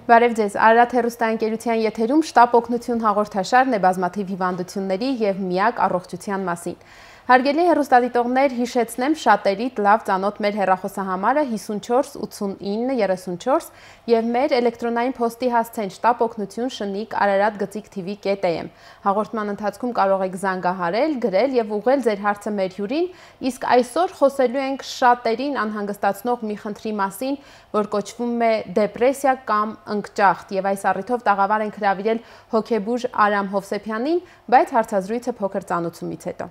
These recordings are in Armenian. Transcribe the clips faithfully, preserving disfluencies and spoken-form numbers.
Բարև ձեզ, Արարատ հեռուստաընկերության եթերում շտապ օգնություն հաղորդաշարն է բազմաթիվ հիվանդությունների և միակ առողջության մասին։ Հարգելի հեռուստադիտողներ, հիշեցնեմ շատերիդ լավ ծանոթ մեր հեռախոսահամարը հիսունչորս ութսունինը երեսունչորս և մեր էլեկտրոնային փոստի հասցեն շտապ օգնություն շնիկ արարատ գծիկ թիվի կետ էմ։ Հաղորդման ընթացքում կարող եք զանգահարել, գրել և ուղղել ձեր հարցը մեր հյուրին, իսկ այսօր խոսելու ենք շատերին անհանգստացնող մի խնդրի մասին, որ կոչվում է դեպրեսիա կամ ընկճախտ, և այս առիթով տաղավար ենք հրավիրել հոգեբույժ Արամ Հովսեփյանին, բայց հարցազրույցը փոքր ծանոթումից հետո։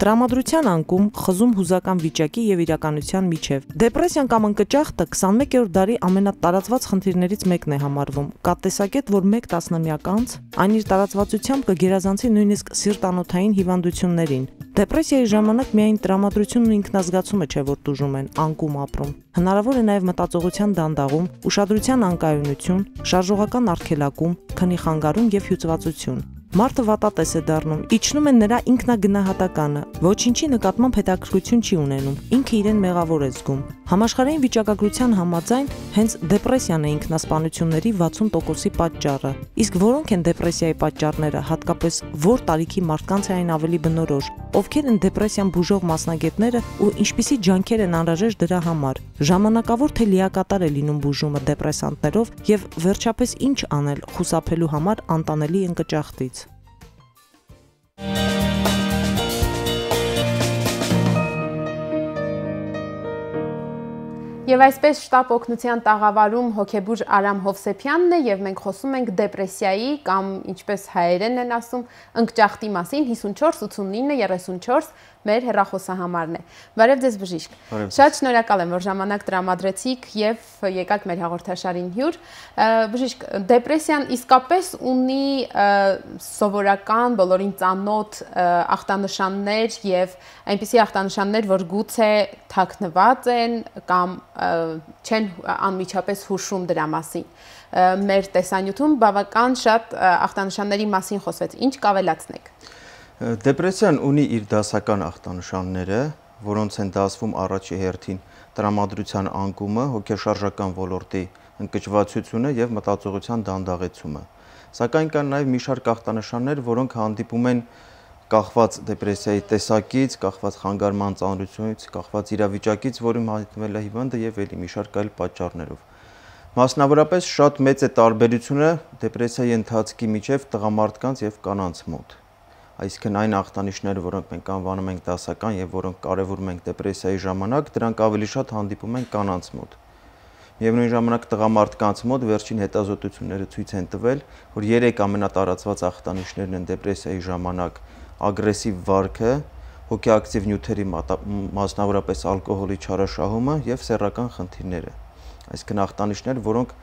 Տրամադրության անկում, խզում հուզական վիճակի և իրականության միջև։ Դեպրեսիան կամ ընկճախտը քսանմեկերորդ դարի ամենատարածված խնդիրներից մեկն է համարվում։ Կա տեսակետ, որ մեկ տասնամյակ անց այն իր տարածվածությամբ կգերազանցի նույնիսկ սիրտանոթային հիվանդություններին։ Դեպրեսիայի ժամանակ միայն տրամադրությունն ու ինքնազգացումը չէ, որ տուժում են, անկում ապրում։ Հնարավոր է նաև մտածողության դանդաղում, ուշադրության անկայունություն, շարժողական արգելակում, քնի խանգարում և հյուծվածություն։ Մարդը վատատես է դառնում, իջնում է նրա ինքնագնահատականը, ոչինչի նկատմամբ հետաքրքրություն չի ունենում, ինքը իրեն մեղավոր է զգում։ Համաշխարհային վիճակագրության համաձայն հենց դեպրեսիան է ինքնասպանությունների վաթսուն տոկոսի պատճառը։ Իսկ որոնք են դեպրեսիայի պատճառները, հատկապես որ տարիքի մարդկանց է այն ավելի բնորոշ, ովքեր են դեպրեսիան բուժող մասնագետները ու ինչպիսի ջանքեր են անհրաժեշտ դրա համար։ Ժամանակավոր թե լիակատար է լինում բուժումը դեպրեսանտներով և վերջապես ինչ անել խուսափելու համար անտանելի ընկճախտից։ Եվ այսպես շտապ օգնության տաղավարում հոգեբույժ Արամ Հովսեփյանն է և մենք խոսում ենք դեպրեսիայի կամ ինչպես հայերեն են ասում ընկճախտի մասին հիսունչորս ութսունինը երեսունչորս մեր հեռախոսահամարն է։ Բարև ձեզ բժիշկ։ Շատ շնորհակալ եմ, որ ժամանակ տրամադրեցիք և եկաք մեր հաղորդաշարին հյուր։ Բժիշկ, դեպրեսիան իսկապես ունի սովորական բոլորին ծանոթ ախտանշաններ և այնպիսի ախտանշաններ, որ գուցե թաքնված են կամ չեն անմիջապես հուշում դրա մասին։ Մեր տեսանյութում բավական շատ ախտանշանների մասին խոսվեց, ինչ կավելացնեք։ Դեպրեսիան ունի իր դասական ախտանշանները, որոնց են դասվում առաջի հերթին տրամադրության անկումը, հոգեշարժական ոլորտի ընկճվածությունը և մտածողության դանդաղեցումը։ Սակայն կան նաև մի շարք ախտանշաններ, որոնք հանդիպում են կախված դեպրեսիայի տեսակից, կախված խանգարման ծանրությունից, կախված իրավիճակից, որում հայտնվել է հիվանդը և ելի մի շարք այլ պատճառներով։ Մասնավորապես շատ մեծ է տարբերությունը դեպրեսիայի ընթացքի միջև տղամարդկանց և կանանց մոտ։ Այսինքն այն ախտանիշները, որոնք մենք անվանում ենք դասական և որոնք կարևորում ենք դեպրեսիայի ժամանակ, դրանք ավելի շատ հանդիպում են կանանց մոտ։ Միևնույն ժամանակ տղամարդկանց մոտ վերջին հետազոտությունները ցույց են տվել, որ երեք ամենատարածված ախտանիշներն են դեպրեսիայի ժամանակ ագրեսիվ վարքը, հոգեակտիվ նյութերի, մասնավորապես ալկոհոլի չարաշահումը և սեռական խնդիրները։ Այսինքն ախտանիշներ, որոնք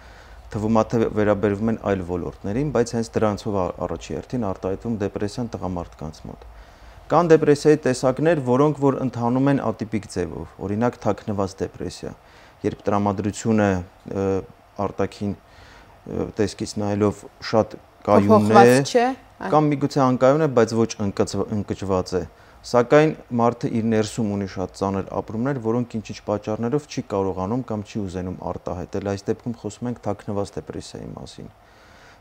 թվում է թե վերաբերվում են այլ ոլորտներին, բայց հենց դրանցով առաջի հերթին արտահայտվում դեպրեսիան տղամարդկանց մոտ։ Կան դեպրեսիայի տեսակներ, որոնք որ ընթանում են ատիպիկ ձևով, օրինակ թաքնված դեպրեսիա, երբ տրամադրությունը արտաքին տեսքից նայելով շատ կայուն է, կամ միգուցե անկայուն է, բայց ոչ ընկճված է, սակայն մարդը իր ներսում ունի շատ ծանր ապրումներ, որոնք ինչ-ինչ պատճառներով չի կարողանում կամ չի ուզենում արտահայտել։ Այս դեպքում խոսում ենք թաքնված դեպրեսիայի մասին։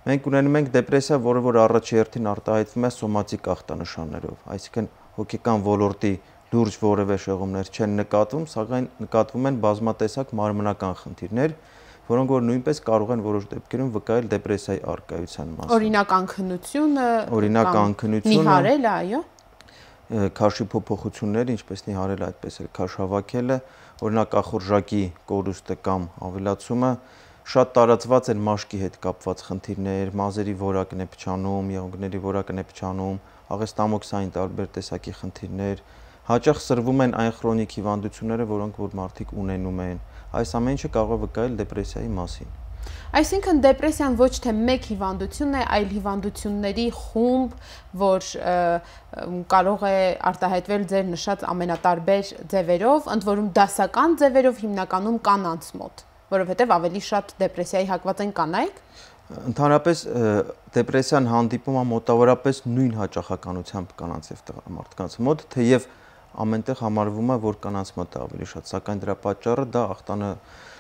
Մենք ունենում ենք դեպրեսիա, որը որ առաջի հերթին արտահայտվում է սոմատիկ ախտանշաններով, այսինքն հոգեկան ոլորտի լուրջ որևէ շեղումներ չեն նկատվում, սակայն նկատվում են բազմատեսակ մարմնական խնդիրներ, որոնք որ նույնպես կարող են որոշ դեպքերում վկայել դեպրեսիայի առկայության մասին։ Օրինակ անքնությունը, օրինակ անքնությունը, նիհարելը, այո, քաշի փոփոխությունները, ինչպես նիհարելը, այդպես էլ քաշ հավաքելը, օրինակ ախորժակի կորուստը կամ ավելացումը, շատ տարածված են մաշկի հետ կապված խնդիրներ, մազերի որակն է փչանում, եղունգների որակն է փչանում, աղեստամոքսային տարբեր տեսակի խնդիրներ, հաճախ սրվում են այն քրոնիկ հիվանդությունները, որոնք որ մարդիկ ունենում են։ Այս ամեն ինչը կարող է վկայել դեպրեսիայի մասին։ Այսինքն դեպրեսիան ոչ թե մեկ հիվանդություն է, այլ հիվանդությունների խումբ, որ կարող է արտահայտվել ձեր նշած ամենատարբեր ձևերով, ընդ որում դասական ձևերով հիմնականում կանանց մոտ, որովհետև ավելի շատ դեպրեսիայի հակված են կանայք։ Ընդհանրապես դեպրեսիան հանդիպում է մոտավորապես նույն հաճախականությամբ կանանց և տղամարդկանց մոտ, թեև ամենտեղ համարվում է, որ կանանց մոտ է ավելի շատ, սակայն դրա պատճառը դա ախտանը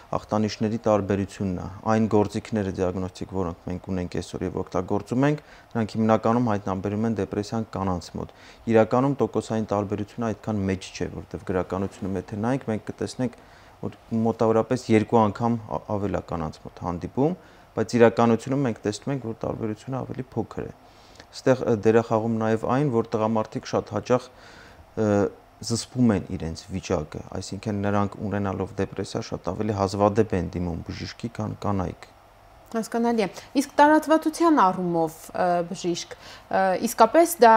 ախտանիշների տարբերությունն է։ Այն գործիքները դիագնոստիկ, որոնք մենք ունենք այսօր եւ օգտագործում ենք, նրանք հիմնականում հայտնաբերում են դեպրեսիան կանանց մոտ։ Իրականում տոկոսային տարբերությունը այդքան մեծ չէ, որովհետեւ գրականությունում եթե նայենք, մենք կտեսնենք, որ մոտավորապես երկու անգամ ավել է կանանց մոտ հանդիպում, բայց իրականությունում մենք տեսնում ենք, որ տարբերությունը ավելի փոքր է։ Այստեղ դերախաղում նաեւ այն, որ տղամարդիկ շատ հաճախ զսպում են իրենց վիճակը, այսինքն նրանք ունենալով դեպրեսիա շատ ավելի հազվադեպ են դիմում բժիշկի, քան կանայք։ Հասկանալի է։ Իսկ տարածվածության առումով բժիշկ, իսկապես դա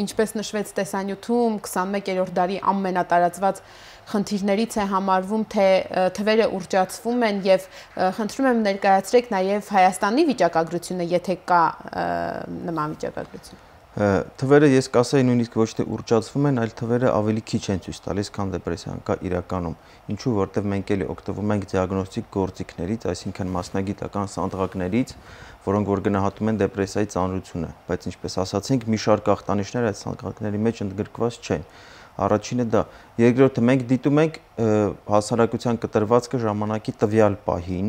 ինչպես նշվեց տեսանյութում քսանմեկերորդ դարի ամենատարածված խնդիրներից է համարվում, թե թվերը ուռճացվում են եւ խնդրում եմ ներկայացրեք նաեւ Հայաստանի վիճակագրությունը, եթե կա նման վիճակագրություն։ Թվերը ես կասեի նույնիսկ ոչ թե ուռճացվում են, այլ թվերը ավելի քիչ են ցույց տալիս, քան դեպրեսիան կա իրականում։ Ինչու, որտեղ մենք էլի օգտվում ենք դիագնոստիկ գործիքներից, այսինքն մասնագիտական սանդղակներից, որոնք որ գնահատում են դեպրեսիայի ծանրությունը, բայց ինչպես ասացինք, մի շարք ախտանիշներ այդ սանդղակների մեջ ընդգրկված չեն։ Առաջինը դա, երկրորդը մենք դիտում ենք հասարակության կտրվածքը ժամանակի տվյալ պահին,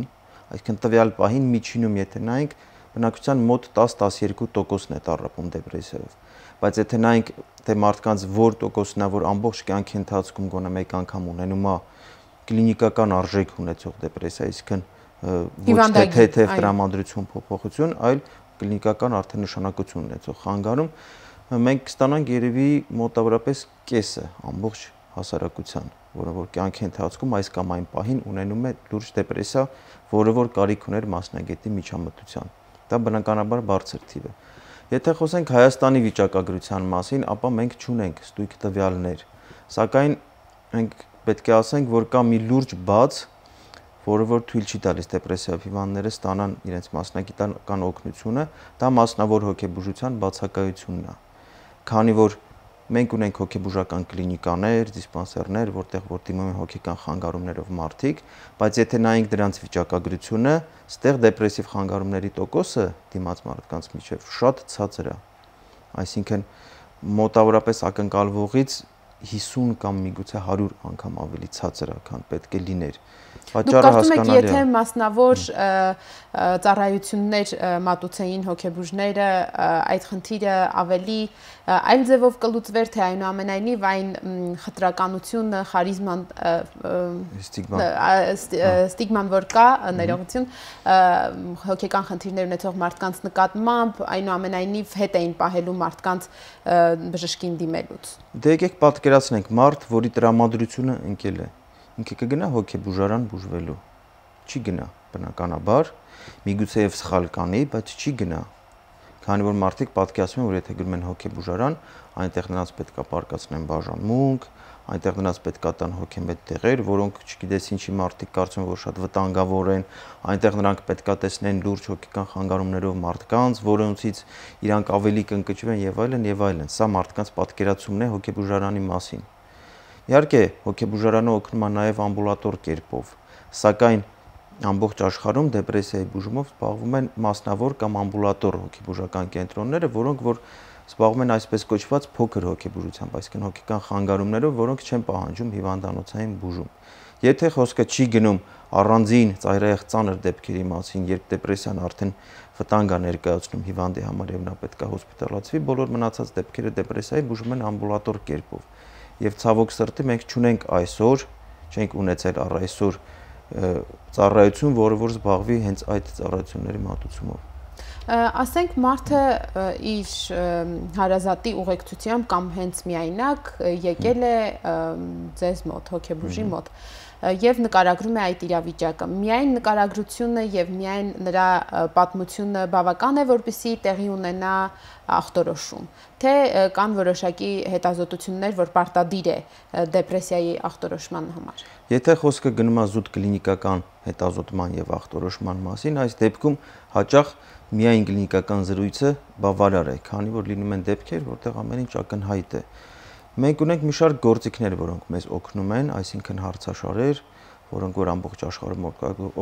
այսինքն տվյալ պահին միջինում եթե նայենք բնակության մոտ տաս-տասներկու տոկոսն է տառապում դեպրեսիայով, բայց եթե նայենք թե մարդկանց որ տոկոսն է, որ ամբողջ կյանքի ընթացքում գոնե մեկ անգամ ունենում է կլինիկական արժեք ունեցող դեպրեսիա, այսինքն ոչ թե թեթև տրամադրություն փոփոխություն, այլ կլինիկական արդեն նշանակություն ունեցող խանգարում, մենք կստանանք երևի մոտավորապես կեսը ամբողջ հասարակության, որը որ կյանքի ընթացքում այս կամ այն պահին ունենում է լուրջ դեպրեսիա, որը որ կարիք ուներ մասնագետի միջամտության։ Դա բնականաբար բարձր թիվ է։ Եթե խոսենք Հայաստանի վիճակագրության մասին, ապա մենք չունենք ստույգ տվյալներ, սակայն մենք պետք է ասենք, որ կա մի լուրջ բաց, որը որ թույլ չի տալիս դեպրեսիայով հիվանդները ստանան իրենց մասնագիտական օգնությունը, դա մասնավոր հոգեբուժության բացակայությունն է։ Քանի որ մենք ունենք հոգեբուժական կլինիկաներ, դիսպանսերներ, որտեղ որ դիմում են հոգեկան խանգարումներով մարդիկ, բայց եթե նայենք դրանց վիճակագրությունը, ստեղ դեպրեսիվ խանգարումների տոկոսը դիմաց մարդկանց միջև շատ ցածր է։ Այսինքն մոտավորապես ակնկալվողից հիսուն կամ միգուցե հարյուր անգամ ավելի ցածր է, քան պետք է լիներ։ Պատճառը հասկանալի է։ Եթե մասնավոր ծառայություններ մատուցեին հոգեբուժները, այդ խնդիրը ավելի այլ ձևով կլուծվեր, թե այնուամենայնիվ այն խտրականությունը, խարիզման, ստիգման, որ կա, ներողություն, հոգեկան խնդիրներ ունեցող մարդկանց նկատմամբ, այնուամենայնիվ հետ էին պահելու մարդկանց բժշկին դիմելուց։ Դե եկեք պատկերացնենք մարդ, որի տրամադրությունը ընկել է, ինքը կգնա հոգեբուժարան բուժվելու, չի գնա բնականաբար, միգուցե եւ սխալ կանի, բայց չի գնա, քանի որ մարդիկ պատկերացնում են, որ եթե գնում են հոգեբուժարան, այնտեղ նրանց պետք է պարկացնեն բաժանմունք, այնտեղ նրանց պետք է տան հոգեմետ տեղեր, որոնք չգիտես ինչի մարդիկ կարծում են, որ շատ վտանգավոր են, այնտեղ նրանք պետք է տեսնեն լուրջ հոգեկան խանգարումներով մարդկանց, որոնցից իրանք ավելի կընկճվեն եւ այլն եւ այլն։ Սա մարդկանց պատկերացումն է հոգեբուժարանի մասին։ Իհարկե, հոգեբուժարանը օգնում է նաև ամբուլատոր կերպով, սակայն ամբողջ աշխարհում դեպրեսիայի բուժումով զբաղվում են մասնավոր կամ ամբուլատոր հոգեբուժական կենտրոնները, որոնք որ զբաղվում են այսպես կոչված փոքր հոգեբուժությամբ, այսինքն հոգեկան խանգարումներով, որոնք չեն պահանջում հիվանդանոցային բուժում։ Եթե խոսքը չի գնում առանձին ծայրահեղ ծանր դեպքերի մասին, երբ դեպրեսիան արդեն վտանգ է ներկայացնում հիվանդի համար եւ նա պետք է հոսպիտալացվի, բոլոր մնացած դեպքերը դեպրեսիայի բուժում են ամբուլատոր կերպով։ Եվ ցավոք սրտի մենք չունենք այսօր, չենք ունեցել առ այսօր ծառայություն, որը որ զբաղվի հենց այդ ծառայությունների մատուցումով։ Ասենք մարդը իր հարազատի ուղեկցությամբ կամ հենց միայնակ եկել է ձեզ մոտ, հոգեբուժի մոտ եւ նկարագրում է այդ իրավիճակը։ Միայն նկարագրությունը եւ միայն նրա պատմությունը բավական է, որպեսզի տեղի ունենա ախտորոշում, թե կան որոշակի հետազոտություններ, որ պարտադիր է դեպրեսիայի ախտորոշման համար։ Եթե խոսքը գնում է զուտ կլինիկական հետազոտման եւ ախտորոշման մասին, այս դեպքում հաճախ միայն կլինիկական զրույցը բավարար է, քանի որ լինում են դեպքեր, որտեղ ամեն ինչ ակնհայտ է։ Մենք ունենք մի շարք գործիքներ, որոնք մեզ օգնում են, այսինքն հարցաշարեր, որոնք որ ամբողջ աշխարհում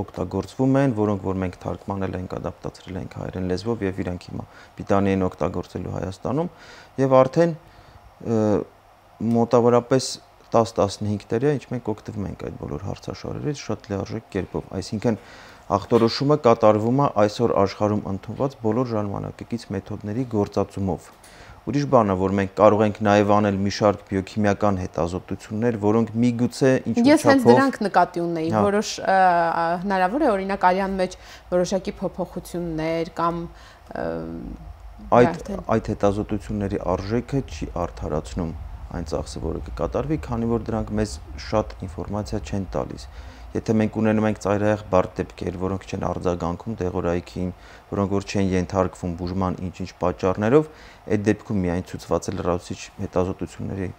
օգտագործվում են, որոնք որ մենք թարգմանել ենք, ադապտացրել ենք հայերեն լեզվով եւ իրանք հիմա պիտանի են օգտագործելու Հայաստանում, եւ արդեն մոտավորապես տասը տասնհինգ տարի է, ինչ մենք օգտվում ենք այդ բոլոր հարցաշարերից շատ լիարժեք կերպով, այսինքն ախտորոշումը կատարվում է այսօր աշխարհում ընդունված բոլոր ժամանակակից մեթոդների գործածումով։ Ուրիշ բան է, որ մենք կարող ենք նաև անել մի շարք բիոքիմիական հետազոտություններ, որոնք միգուցե ինչ-որ չափով… Ես հենց դրանք նկատի ունեի, որոշ հնարավոր է օրինակ արյան մեջ որոշակի փոփոխություններ կամ այդ այդ հետազոտությունների արժեքը չի արդարացնում այն ծախսը, որը կկատարվի, քանի որ դրանք մեզ շատ ինֆորմացիա չեն տալիս։ Եթե մենք ունենում ենք ծայրահեղ բարդ դեպքեր, որոնք չեն արձագանքում դեղորայքին, որոնք որ չեն ենթարկվում բուժման ինչ-ինչ պատճառներով, այդ դեպքում միայն ցուցված է լրացուցիչ հետազոտությունների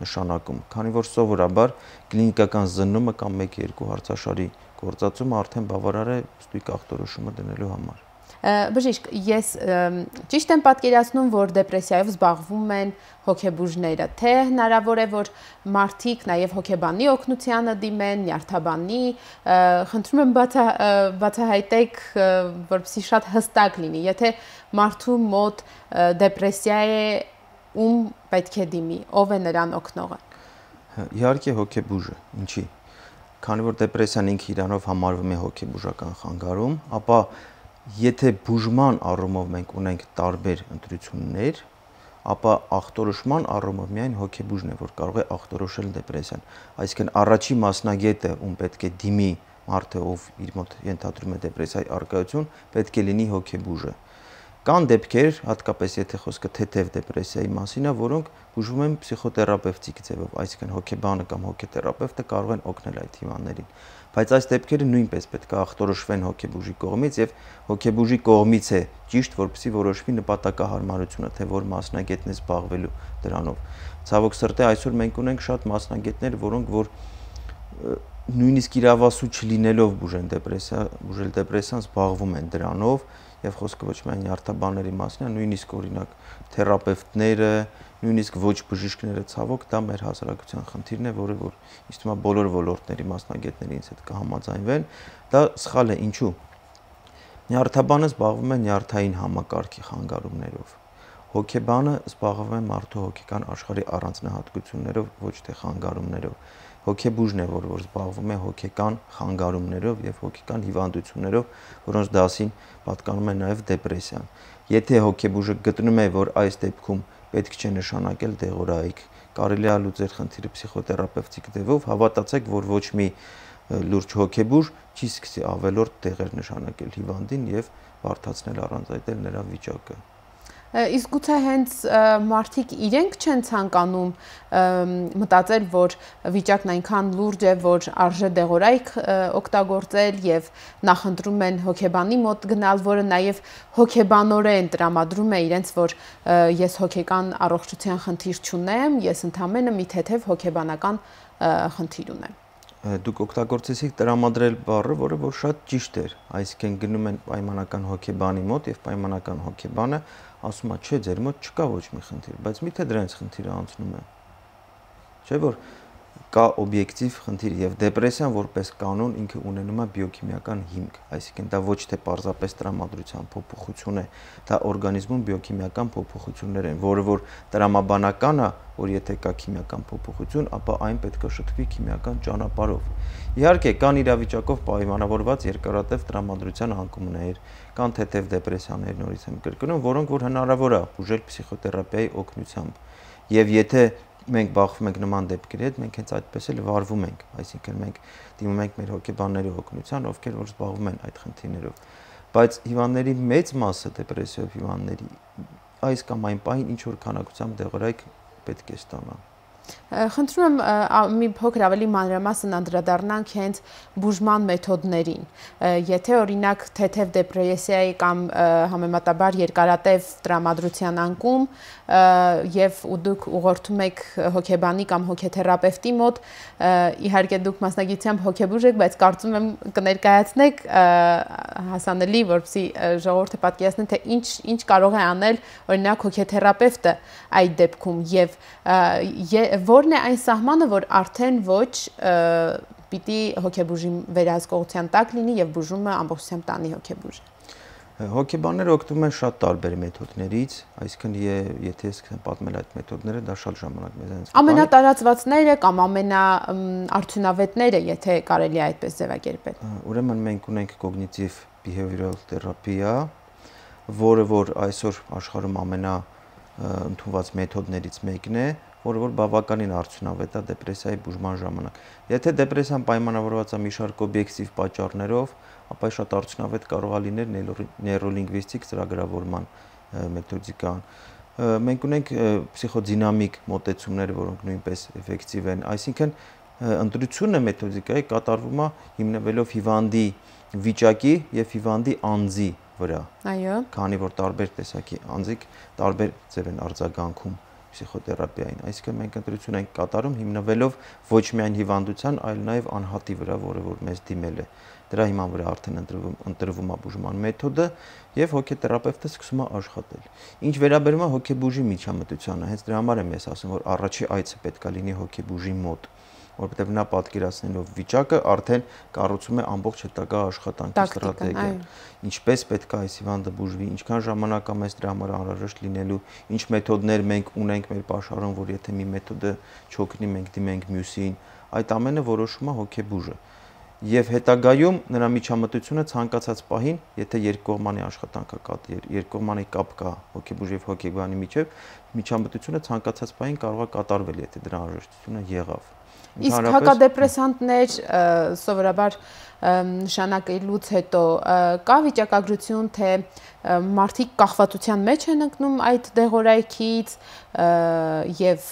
նշանակում, քանի որ սովորաբար կլինիկական զննումը կամ մեկ-երկու հարցաշարի գործածումը արդեն բավարար է ստույգ ախտորոշումը դնելու համար։ Բժիշկ, ես ճիշտ եմ պատկերացնում, որ դեպրեսիայով զբաղվում են հոգեբուժները, թե հնարավոր է, որ մարդիկ նաև հոգեբանի օգնությանը դիմեն, նյարդաբանի, խնդրում եմ բացահայտեք, որպեսզի շատ հստակ լինի, եթե մարդու մոտ դեպրեսիա է, ում պետք է դիմի, ով է նրան օգնողը։ Իհարկե հոգեբուժը, ինչի, քանի որ դեպրեսիան ինքը իրանով համարվում է հոգեբուժական խանգարում, ապա եթե բուժման առումով մենք ունենք տարբեր ընտրություններ, ապա ախտորոշման առումով միայն հոգեբուժն է, որ կարող է ախտորոշել դեպրեսիան։ Այսինքն առաջի մասնագետը, ում պետք է դիմի մարդը, ով իր մոտ ենթադրում է դեպրեսիայի առկայություն, պետք է լինի հոգեբուժը։ Կան դեպքեր, հատկապես եթե խոսքը թեթև դեպրեսիայի մասին է, որոնք բուժվում են պսիխոթերապևտիկ ձևով, այսինքն հոգեբանը կամ հոգեթերապևտը կարող են օգնել այդ հիվանդներին։ Բայց այս դեպքերը նույնպես պետք է ախտորոշվեն հոգեբուժի կողմից եւ հոգեբուժի կողմից է ճիշտ, որպեսզի որոշվի նպատակահարմարությունը, թե որ մասնագետն է զբաղվելու դրանով։ Ցավոք սրտի այսօր մենք ունենք շատ մասնագետներ, որոնք որ նույնիսկ իրավասու չլինելով բուժեն դեպրեսիա, բուժել դեպրեսիան զբաղվում են դրանով եւ խոսքը ոչ միայն նյարդաբանների մասին է, նույնիսկ օրինակ թերապևտները, նույնիսկ ոչ բժիշկները ցավոք դա մեր հասարակության խնդիրն է, որը որ ինձ թվում է բոլոր ոլորտների մասնագետների ինձ հետ կհամաձայնվեն, դա սխալ է, ինչու։ Նյարդաբանը զբաղվում է նյարդային համակարգի խանգարումներով։ Հոգեբանը զբաղվում է մարդու հոգեկան աշխարհի առանձնահատկություններով, ոչ թե խանգարումներով։ Հոգեբուժն է, որ որ զբաղվում է հոգեկան խանգարումներով եւ հոգեկան հիվանդություններով, որոնց դասին պատկանում է նաեւ դեպրեսիան։ Եթե հոգեբուժը գտնում է, որ այս դեպքում պետք չէ նշանակել դեղորայք, կարելի է լուծել խնդիրը պսիխոթերապևտիկ ձևով, հավատացեք, որ ոչ մի լուրջ հոգեբուժ չի սկսի ավելորդ դեղեր նշանակել հիվանդին եւ բարդացնել առանց այդել նրա վիճակը։ Իսկ գուցե հենց մարդիկ իրենք չեն ցանկանում մտածել, որ վիճակն այնքան լուրջ է, որ արժե դեղորայք օգտագործել եւ նախընտրում են հոգեբանի մոտ գնալ, որը նաեւ հոգեբանորեն տրամադրում է իրենց, որ ես հոգեկան առողջության խնդիր չունեմ, ես ընդամենը մի թեթև հոգեբանական խնդիր ունեմ։ Դուք օգտագործեցիք տրամադրել բառը, որը որ շատ ճիշտ էր, այսինքն գնում են պայմանական հոգեբանի մոտ եւ պայմանական հոգեբանը ասում է, չէ, ձեր մոտ չկա ոչ մի խնդիր, բայց միթե դրանց խնդիրը անցնում է։ Չէ՞ որ կա օբյեկտիվ խնդիր եւ դեպրեսիան որպես կանոն ինքը ունենում է բիոքիմիական հիմք, այսինքն դա ոչ թե պարզապես տրամադրության փոփոխություն է, դա օրգանիզմում բիոքիմիական փոփոխություններ են, որը որ տրամաբանական է, որ եթե կա քիմիական փոփոխություն, ապա այն պետք է շփվի քիմիական ճանապարհով։ Իհարկե, կան իրավիճակով պայմանավորված երկարատև տրամադրության անկումներ, կան թեթև դեպրեսիաներ, նորից եմ կրկնում, որոնք որ հնարավոր է բուժել պսիխոթերապիայի օգնությամբ։ Եվ եթե մենք բախվում ենք նման դեպքերի հետ, մենք հենց այդպես էլ վարվում ենք, այսինքն մենք դիմում ենք մեր հոգեբանների օգնության, ովքեր որ զբաղվում են այդ խնդիրներով։ Բայց հիվանդների մեծ մասը դեպրեսիվ հիվանդների այս կամ այն պահին ինչ որ քանակությամբ դեղորայք պետք է ստանան։ Խնդրում եմ մի փոքր ավելի մանրամասն անդրադառնանք հենց բուժման մեթոդներին։ Եթե օրինակ թեթև դեպրեսիայի կամ համեմատաբար երկարատև տրամադրության անկում եւ դուք ուղղորդում եք հոգեբանի կամ հոգեթերապևտի մոտ, իհարկե դուք մասնագիտությամբ հոգեբուժ եք, բայց կարծում եմ կներկայացնեք հասանելի, որպեսզի ժողովուրդը պատկերացնի, թե ինչ ինչ կարող է անել օրինակ հոգեթերապևտը այդ դեպքում եւ որն է այն սահմանը, որ արդեն ոչ պիտի հոգեբուժի վերահսկողության տակ լինի եւ բուժումը ամբողջությամբ տանի հոգեբուժը։ Հոգեբանները օգտվում են շատ տարբեր մեթոդներից, այսինքն եթե ես պատմել այդ մեթոդները, դա շատ ժամանակ մեզանից կտանի։ Ամենատարածվածները կամ ամենաարդյունավետները, եթե կարելի է այդպես ձևակերպել։ Ուրեմն մենք ունենք կոգնիտիվ behavioral therapy-ը, որը որ այսօր աշխարհում ամենաընդունված մեթոդներից մեկն է, որը որ բավականին արդյունավետ է դեպրեսիայի բուժման ժամանակ։ Եթե դեպրեսիան պայմանավորված է մի շարք օբյեկտիվ պատճառներով, ապա շատ արդյունավետ կարող է լինել նեյրոլինգվիստիկ ծրագրավորման մեթոդիկան։ Մենք ունենք փսիխոդինամիկ մոտեցումներ, որոնք նույնպես էֆեկտիվ են, այսինքն ընտրությունը մեթոդիկայի կատարվում է հիմնվելով հիվանդի վիճակի եւ հիվանդի անձի վրա։ Այո։ Քանի որ տարբեր տեսակի անձիկ տարբեր ձև են արձագանքում պսիխոթերապիային, այսինքն մենք ընտրություն ենք կատարում հիմնվելով ոչ միայն հիվանդության, այլ նաև անհատի վրա, որը որ մեզ դիմել է։ Դրա հիման վրա արդեն ընտրվում ընտրվում է բուժման մեթոդը եւ հոգեթերապևտը սկսում է աշխատել։ Ինչ վերաբերում է հոգեբուժի միջամտությանը, հենց դրա համար եմ ես ասում, որ առաջի այցը պետք է լինի հոգեբուժի մոտ, որովհետեւ նա պատկերացնելով վիճակը արդեն կառուցում է ամբողջ հետագա աշխատանքի ստրատեգիան։ Ինչպես պետք է այս հիվանդը բուժվի, ինչքան ժամանակ է մեզ դրա համար անհրաժեշտ լինելու, ինչ մեթոդներ մենք ունենք մեր աշխարհում, որ եթե մի մեթոդը չօգնի, մենք դիմենք մյուսին, այդ ամենը որոշում է հոգեբուժը։ Եվ հետագայում նրա միջամտությունը ցանկացած պահին, եթե երկկողմանի աշխատանք կա, երկկողմանի կապ կա հոգեբուժի եւ հոգեբանի միջեւ, միջամտությունը ցանկացած պահին կարող է կատարվել, եթե դրա անհրաժեշտությունը եղավ։ Իսկ հակադեպրեսանտներ սովորաբար նշանակելուց հետո կա վիճակագրություն, թե մարդիկ կախվածության մեջ են ընկնում այդ դեղորայքից եւ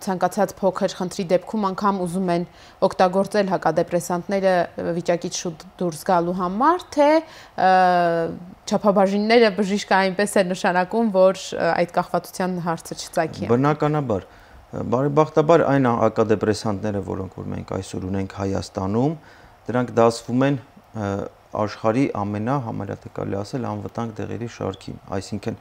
ցանկացած փոքր խնդրի դեպքում անգամ ուզում են օգտագործել հակադեպրեսանտները վիճակից շուտ դուրս գալու համար, թե չափաբաժինները բժիշկը այնպես է նշանակում, որ այդ կախվածության հարցը չծագի։ Բնականաբար Բարեբախտաբար այն հակադեպրեսանտները, որոնք որ մենք այսօր ունենք Հայաստանում, դրանք դասվում են աշխարհի ամենա համարյա թե կարելի ասել անվտանգ դեղերի շարքին, այսինքն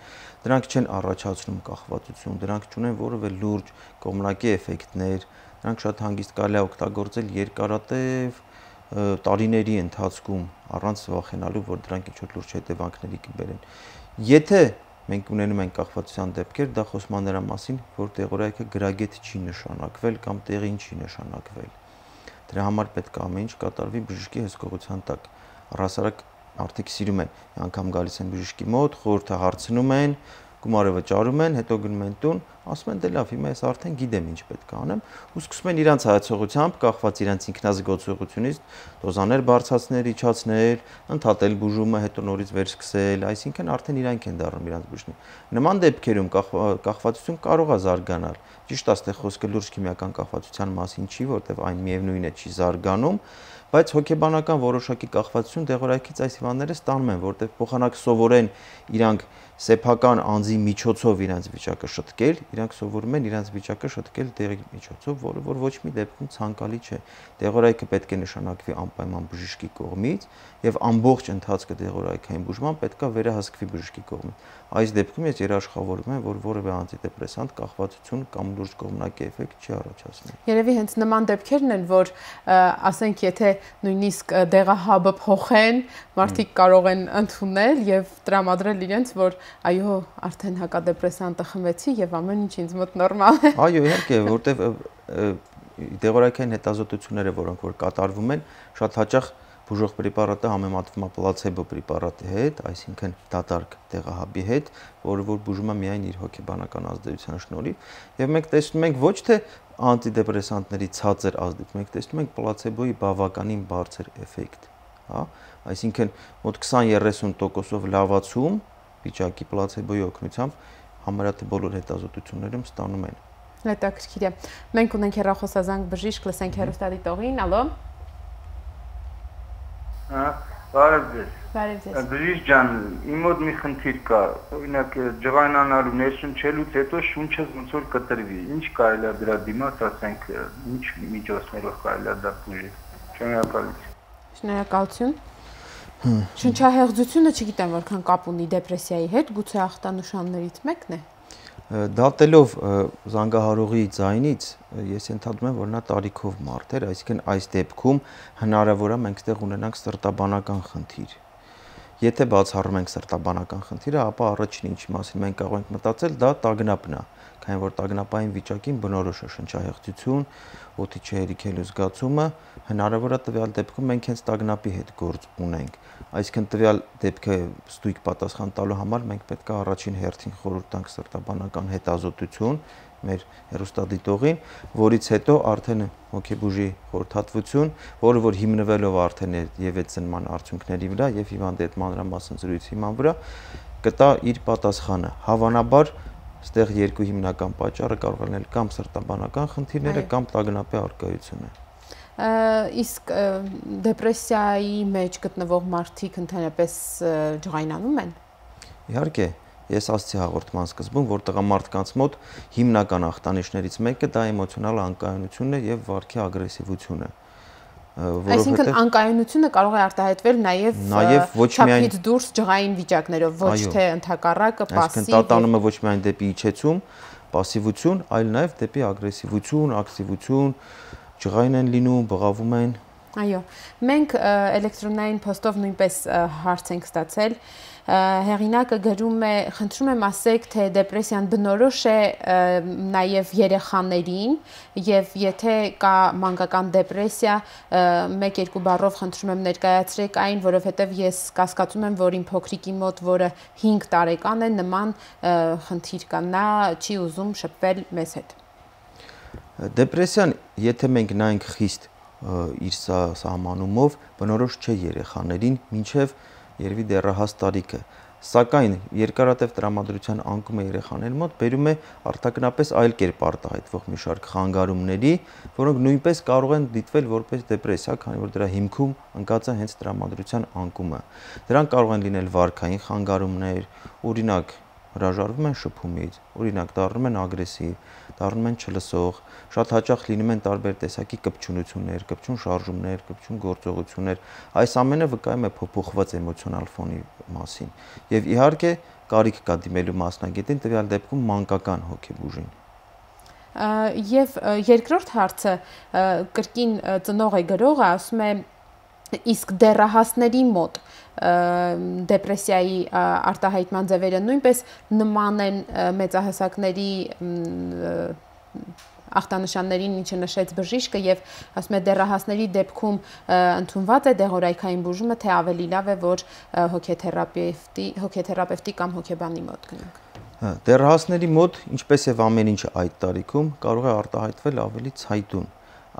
դրանք չեն առաջացնում կախվածություն, դրանք չունեն որևէ լուրջ կողմնակի էֆեկտներ, դրանք շատ հանգիստ կարելի է օգտագործել երկարատև տարիների ընթացքում առանց վախենալու, որ դրանք ինչ-որ լուրջ հետևանքների կբերեն։ Եթե մենք ունենում ենք կախվածության դեպքեր, դա խոսում է նրա մասին, որ դեղորայքը գրագետ չի նշանակվել կամ տեղին չի նշանակվել։ Դրա համար պետք է ամեն ինչ կատարվի բժշկի հսկողության տակ։ Առհասարակ արդյոք սիրում են, անգամ գալիս են բժշկի մոտ, խորհուրդը հարցնում են, գումարը վճարում են, հետո գնում են տուն, ասում են դե լավ, հիմա ես արդեն գիտեմ ինչ պետք է անեմ, ու սկսում են իրանց հայացողությամբ, կախված իրանց ինքնազգացողությունից, դոզաներ բարձրացնել, իջացնել, ընդհատել բուժումը, հետո նորից վերսկսել, այսինքն արդեն իրանք են դառնում իրանց բուժնի։ Նման դեպքերում կախվածություն կարող է զարգանալ։ Ճիշտ է, այստեղ խոսքը լուրջ քիմիական կախվածության մասին չի, որտեղ այն միևնույն է չի զարգանում, բայց հոգեբանական որոշակի կախվածություն դեղորայքից այս հիվանդները ստանում են, որտեղ փոխանակ սովորեն իրանք սեփական անձի միջոցով իրենց վիճակը շտկել, իրանք սովորում են իրենց վիճակը շտկել դեղի միջոցով, որը որ ոչ մի դեպքում ցանկալի չէ։ Դեղորայքը պետք է նշանակվի անպայման բժշկի կողմից եւ ամբողջ ընթացքը դեղորայքային բուժման պետք է վերահսկվի բժշկի կողմից։ Այս դեպքում ես երաշխավորում եմ, որ որևէ անտիդեպրեսանտ կախվածություն կամ լուրջ կողմնակի էֆեկտ չի առաջացնում։ Երևի հենց նման դեպքերն են, որ ասենք եթե նույնիսկ դեղահաբը փոխեն, մարդիկ կարող են ընդունել եւ տրամադրել իրենց, որ այո, արդեն հակադեպրեսանտը խմեցի եւ ամեն ինչ ինձ մոտ նորմալ է։ Այո, իհարկե, որտեվ դեղորայքային հետազոտությունները, որոնք որ կատարվում են, շատ հաճախ բուժող պրեպարատը համեմատվում է պլացեբո պրեպարատի հետ, այսինքն դատարկ դեղահաբի հետ, որը որ բուժում է միայն իր հոգեբանական ազդեցության շնորհիվ, եւ մենք տեսնում ենք ոչ թե անտիդեպրեսանտների ցածր ազդեցություն, մենք տեսնում ենք պլացեբոյի բավականին բարձր էֆեկտ, հա, այսինքն մոտ քսան-երեսուն տոկոսով լավացում վիճակի պլացեբոյի օգնությամբ համարյա թե բոլոր հետազոտություններում ստանում են։ Հետաքրքիր է։ Մենք ունենք հեռախոսազանգ բժիշկ, լսենք հեռուստադիտողին, ալո։ Հա, բարև ձեզ։ Բարև ձեզ։ Բժիշկ ջան, իմ մոտ մի խնդիր կա, օրինակ ջղայնանալու ներշնչելուց հետո շունչս ոնց որ կտրվի։ Ինչ կարելի է դրա դիմաց, ասենք, ինչ միջոցներով կարելի է դա բուժել։ Շնորհակալություն։ Շնորհակալություն։ Շնչահեղձությունը չգիտեմ որքան կապ ունի դեպրեսիայի հետ, գուցե ախտանշաններից մեկն է։ Դատելով զանգահարողի ձայնից ես ենթադրում եմ, որ նա տարիքով մարդ էր, այսինքն այս դեպքում հնարավոր է մենք ստեղ ունենանք սրտաբանական խնդիր։ Եթե բացառում ենք սրտաբանական խնդիրը, ապա առաջին ինչի մասին մենք կարող ենք մտածել, դա տագնապն է, քանի որ տագնապային վիճակին բնորոշ է շնչահեղձություն, օդի չհերիքելու զգացումը, հնարավոր է տվյալ դեպքում մենք հենց տագնապի հետ գործ ունենք։ Այսինքն տվյալ դեպքը ստույգ պատասխան տալու համար մենք պետք է առաջին հերթին խորհուրդ տանք սրտաբանական հետազոտություն մեր հեռուստադիտողին, որից հետո արդեն հոգեբուժի խորհրդատվություն, որը որ հիմնվելով արդեն եւ այդ ծնման արդյունքների վրա եւ հիվանդի հետ մանրամասն զրույցի հիման վրա կտա իր պատասխանը։ Հավանաբար այստեղ երկու հիմնական պատճառը կարող է լինել կամ սրտաբանական խնդիրները, կամ տագնապի առկայությունը։ Իսկ դեպրեսիայի մեջ գտնվող մարդիկ ընդհանրապես ջղայնանում են։ Իհարկե, ես ասացի հաղորդման սկզբում, որ տղամարդկանց մոտ հիմնական ախտանիշներից մեկը դա էմոցիոնալ անկայունությունն է եւ վարքի ագրեսիվությունը։ Այսինքն անկայունությունը կարող է արտահայտվել նաեւ չափից դուրս ջղային վիճակներով, ոչ թե ընդհակառակը պասիվ։ Այսինքն տատանումը ոչ միայն դեպի իջեցում, պասիվություն, այլ նաեւ դեպի ագրեսիվություն, ակտիվություն, ջղային են լինում, բղավում են։ Այո, մենք էլեկտրոնային փոստով նույնպես հարց ենք ստացել։ Հեղինակը գրում է, խնդրում եմ ասեք, թե դեպրեսիան բնորոշ է նաև երեխաներին եւ եթե կա մանկական դեպրեսիա, մեկ-երկու բառով խնդրում եմ ներկայացրեք այն, որովհետեւ ես կասկածում եմ, որ իմ փոքրիկի մոտ, որը հինգ տարեկան է, նման խնդիր կա, նա չի ուզում շփվել մեզ հետ։ Դեպրեսիան, եթե մենք նայենք խիստ իր սահմանումով, բնորոշ չէ երեխաներին, մինչև երևի դեռահաս տարիքը, սակայն երկարատև տրամադրության անկումը երեխաների մոտ բերում է արտաքնապես այլ կերպ արտահայտվող մի շարք խանգարումների, որոնք նույնպես կարող են դիտվել որպես դեպրեսիա, քանի որ դրա հիմքում ընկած է հենց տրամադրության անկումը։ Դրանք կարող են լինել վարքային խանգարումներ, օրինակ հրաժարվում են շփումից, օրինակ դառնում են ագրեսիվ, դառնում են չլսող, շատ հաճախ լինում են տարբեր տեսակի կպչունություններ, կպչուն շարժումներ, կպչուն գործողություններ, այս ամենը վկայում է փոփոխված էմոցիոնալ ֆոնի մասին։ Եվ իհարկե կարիք կա դիմելու մասնագետին, տվյալ դեպքում մանկական հոգեբուժին։ Եվ երկրորդ հարցը կրկին ծնող է գրողը, ասում է իսկ դեռահասների մոտ դեպրեսիայի արտահայտման ձևերը նույնպես նման են մեծահասակների ախտանշաններին, ինչը նշեց բժիշկը, եւ ասում է դեռահասների դեպքում ընդունված է դեղորայքային բուժումը, թե ավելի լավ է, որ հոգեթերապևտի, հոգեթերապևտի կամ հոգեբանի մոտ գնանք։ Դեռահասների մոտ, ինչպես եւ ամեն ինչ այդ տարիքում, կարող է արտահայտվել ավելի ցայտուն,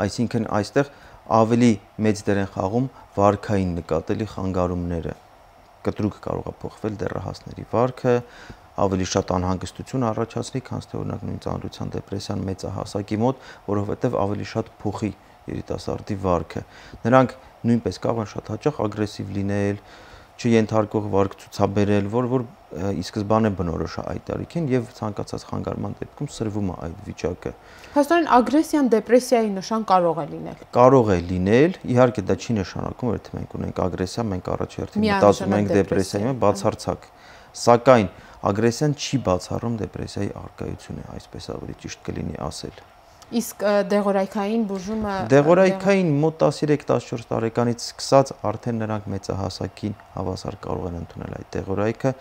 այսինքն այստեղ ավելի մեծ դեր են խաղում վարքային նկատելի խանգարումները։ Կտրուկ կարող է փոխվել դեռահասների վարքը, ավելի շատ անհանգստություն առաջացնի, քան թե օրինակ նույն ծանրության դեպրեսիան մեծահասակի մոտ, որովհետև ավելի շատ փոխի երիտասարդի վարքը։ Նրանք նույնպես կարող են շատ հաճախ ագրեսիվ լինել, չենթարկող վարք ցուցաբերել, որ որ ի սկզբանե բնորոշ է այդ տարիքին եւ ցանկացած խանգարման դեպքում սրվում է այդ վիճակը։ Հաստորեն ագրեսիան դեպրեսիայի նշան կարող է լինել։ Կարող է լինել, իհարկե դա չի նշանակում, որ եթե մենք ունենք ագրեսիա, մենք առաջ հերթին մտածում ենք դեպրեսիայի, բացարձակ։ Սակայն ագրեսիան չի բացառում դեպրեսիայի առկայությունը, այսպես ավելի ճիշտ կլինի ասել։ Իսկ դեղորայքային բուժումը Դեղորայքային մոտ տասներեք տասնչորս տարեկանից սկսած արդեն նրանք մեծահասակին հավասար կարող են ընդունել այդ դեղորայքը,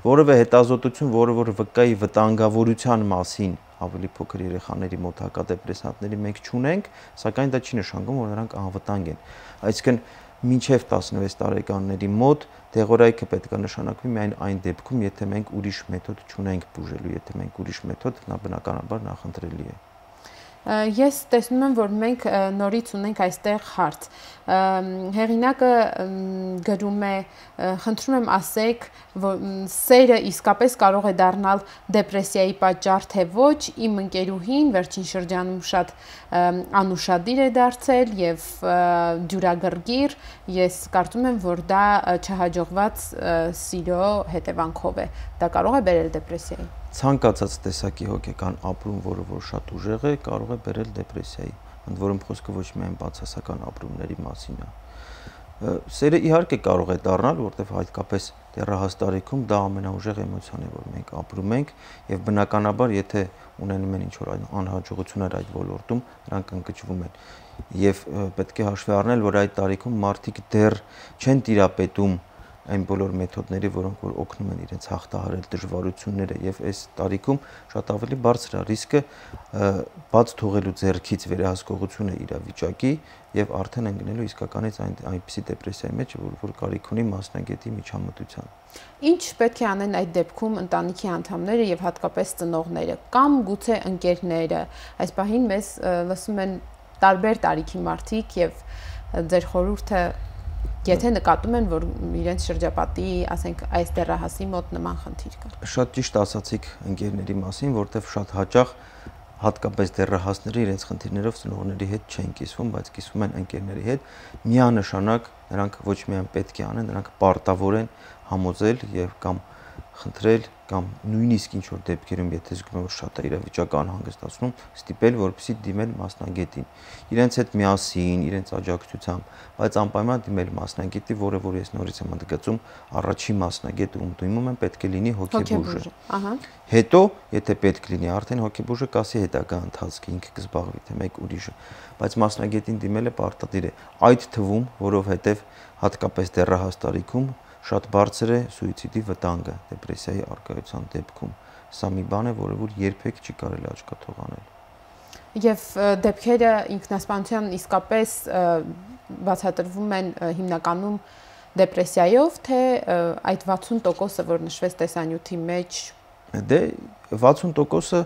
որովե հետազոտություն, որը որ վկայի վտանգավորության մասին ավելի փոքր երեխաների մոտ հակադեպրեսանտների մենք չունենք, սակայն դա չի նշանակում, որ նրանք անվտանգ են։ Այսինքն մինչև տասնվեց տարեկանների մոտ դեղորայքը պետք է նշանակվի միայն այն դեպքում, եթե մենք ուրիշ մեթոդ չունենք բուժելու, եթե մենք ուրիշ մեթոդ, նա բնականաբար նախընտրելի է։ Ես տեսնում եմ, որ մենք նորից ունենք այստեղ հարց։ Հեղինակը գրում է, խնդրում եմ ասեք, որ սերը իսկապես կարող է դառնալ դեպրեսիայի պատճառ, թե ոչ, իմ ընկերուհին վերջին շրջանում շատ անուշադիր է դարձել եւ դյուրագրգիռ, ես կարծում եմ, որ դա չհաջողված սիրո հետևանքով է։ Դա կարող է բերել դեպրեսիայի։ Ցանկացած տեսակի հոգեկան ապրում, որը որ շատ ուժեղ է, կարող է բերել դեպրեսիայի, ընդ որում խոսքը ոչ միայն բացասական ապրումների մասին է։ Սերը իհարկե կարող է դառնալ, որտեղ հատկապես դեռահաս տարիքում դա ամենաուժեղ էմոցիան է, որ մենք ապրում ենք, եւ բնականաբար, եթե ունենում են ինչ-որ անհաջողություններ այդ ոլորտում, նրանք ընկճվում են։ Եվ պետք է հաշվի առնել, որ այդ տարիքում մարդիկ դեռ չեն տիրապետում այն բոլոր մեթոդների, որոնք որ օգնում են իրենց հաղթահարել դժվարությունները եւ այս տարիքում շատ ավելի բարձր է ռիսկը բաց թողելու ձեռքից վերահսկողությունը իրավիճակի եւ արդեն ընկնելու իսկականից այն այնպիսի դեպրեսիայի մեջ, որ որ կարիք ունի մասնագետի միջամտության։ Ինչ պետք է անեն այդ դեպքում ընտանիքի անդամները եւ հատկապես ծնողները կամ գուցե ընկերները։ Այս պահին մեզ լսում են տարբեր տարիքի մարդիկ եւ ձեր խորհուրդը, եթե նկատում են, որ իրենց շրջապատի, ասենք, այս դեռահասի մոտ նման խնդիր կա։ Շատ ճիշտ ասացիք ընկերների մասին, որտեղ շատ հաճախ հատկապես դեռահասները իրենց խնդիրներով ծնողների հետ չեն կիսվում, բայց կիսվում են ընկերների հետ։ Միանշանակ նրանք ոչ միայն պետք է անեն, նրանք պարտավոր են համոզել եւ կամ խնդրել կամ նույնիսկ ինչ որ դեպքերում, եթե զգում են որ շատ է իրավիճակը անհանգստացնում, ստիպել, որպեսզի դիմեն մասնագետին։ Իրենց հետ միասին, իրենց աջակցությամբ, բայց անպայման դիմել մասնագետի, որը որ ես նորից եմ ընդգծում, առաջին մասնագետը ում դիմում են պետք է լինի հոգեբուժը։ Ահա։ Հետո, եթե պետք լինի, արդեն հոգեբուժը կասի հետագա ընթացքը ինքը կզբաղվի, թե մեկ ուրիշը, բայց մասնագետին դիմելը պարտադիր է։ Այդ թվում, որովհետև հատկապես դեռահաս տարիքում շատ բարձր է սուիցիդի վտանգը դեպրեսիայի առկայության դեպքում։ Սա մի բան է, որը որ երբեք չի կարելի աչքաթող անել։ Եվ դեպքերը ինքնասպանության իսկապես բացատրվում են հիմնականում դեպրեսիայով, թե այդ վաթսուն տոկոսը, որ նշվեց տեսանյութի մեջ, Դե վաթսուն տոկոսը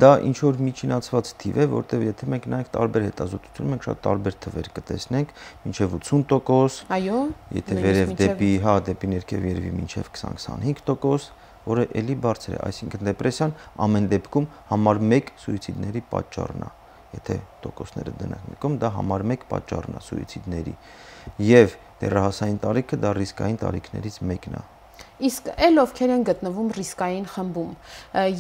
դա ինչ որ միջինացված թիվ է, որտեղ եթե մենք նայենք տարբեր հետազոտություններ, մենք շատ տարբեր թվեր կտեսնենք, մինչև ութսուն տոկոս, այո, եթե վերև դեպի, հա, դեպի ներքև երևի մինչև քսան-քսանհինգ տոկոս, որը էլի բարձր է, այսինքն դեպրեսիան ամեն դեպքում համար մեկ սուիցիդների պատճառն է։ Եթե տոկոսները դնենք մեկում, դա համար մեկ պատճառն է սուիցիդների։ Եվ դեռահասային տարիքը դա ռիսկային տարիքներից մեկն է։ Իսկ էլ ովքեր են գտնվում ռիսկային խմբում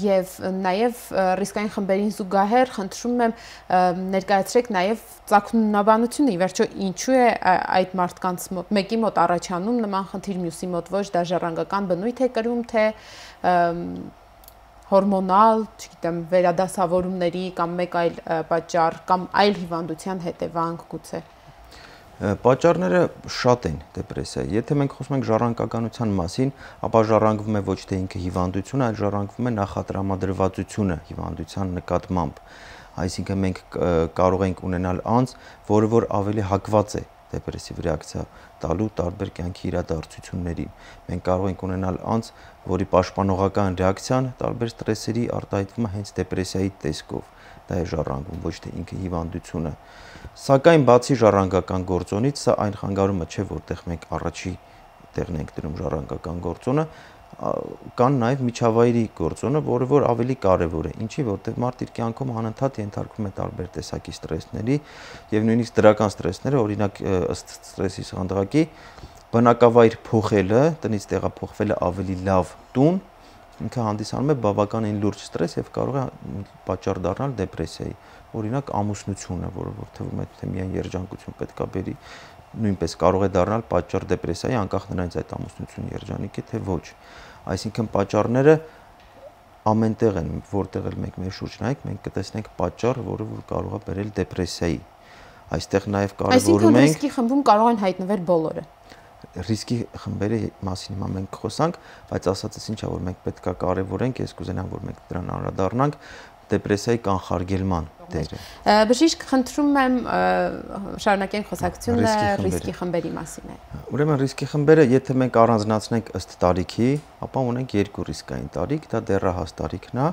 եւ նաեւ ռիսկային խմբերին զուգահեռ խնդրում եմ ներկայացրեք նաեւ ծագումնաբանությունը, ի վերջո ինչու է այդ մարդկանց մոտ մեկի մոտ առաջանում նման խնդիր, մյուսի մոտ ոչ, դա ժառանգական բնույթ է կրում, թե հորմոնալ, չգիտեմ, վերադասավորումների կամ մեկ այլ պատճառ կամ այլ հիվանդության հետևանք գուցե։ Պատճառները շատ են դեպրեսիայի։ Եթե մենք խոսում ենք ժառանգականության մասին, ապա ժառանգվում է ոչ թե ինքը հիվանդությունը, այլ ժառանգվում է նախատրամադրվածությունը հիվանդության նկատմամբ։ Այսինքն մենք կարող ենք ունենալ անձ, որը որ ավելի հակված է դեպրեսիվ ռեակցիա տալու տարբեր կյանքի իրադարձություններին։ Մենք կարող ենք ունենալ անձ, որի պաշտպանողական ռեակցիան տարբեր ստրեսերի արտահայտվում է հենց դեպրեսիայի տեսքով։ Դա է ժառանգում, ոչ թե ինքը հիվանդությունը։ Սակայն բացի ժառանգական գործոնից, սա այն խանգարումը չէ, որտեղ մենք առաջի տեղն ենք դնում ժառանգական գործոնը, կան նաև միջավայրի գործոնը, որը որ ավելի կարևոր է։ Ինչի, որտեղ մարդ իր կյանքում անընդհատ ենթարկվում է տարբեր տեսակի ստրեսների եւ նույնիսկ դրական ստրեսները, օրինակ ըստ ստրեսի սանդղակի, բնակավայր փոխելը, տնից տեղափոխվելը ավելի լավ տուն, ինքը հանդիսանում է բավականին լուրջ ստրես եւ կարող է պատճառ դառնալ դեպրեսիայի։ Օրինակ ամուսնությունը, որը որ թվում է թե միայն երջանկություն պետքա բերի, նույնպես կարող է դառնալ պատճառ դեպրեսիայի, անկախ նրանից այդ ամուսնությունը երջանիկ է թե ոչ։ Այսինքն պատճառները ամենտեղ են, որտեղ էլ մենք մեր շուրջ նայենք, մենք կտեսնենք պատճառ, որը որ կարող է բերել դեպրեսիայի։ Այստեղ նաև կարևորում ենք ռիսկի խմբում կարող են հայտնվել բոլորը։ Ռիսկի խմբերի մասին հիմա մենք խոսանք, բայց ասածս ինչա, որ մենք պետքա կարևորենք, ես կուզենամ, որ մենք դրան անդրադառնանք, դեպրեսիայի կանխարգելման դերը։ Բժիշկ, խնդրում եմ շարունակենք խոսակցությունը ռիսկի խմբերի մասին։ Ուրեմն ռիսկի խմբերը, եթե մենք առանձնացնենք ըստ տարիքի, ապա ունենք երկու ռիսկային տարիք, դա դեռահաս տարիքն է,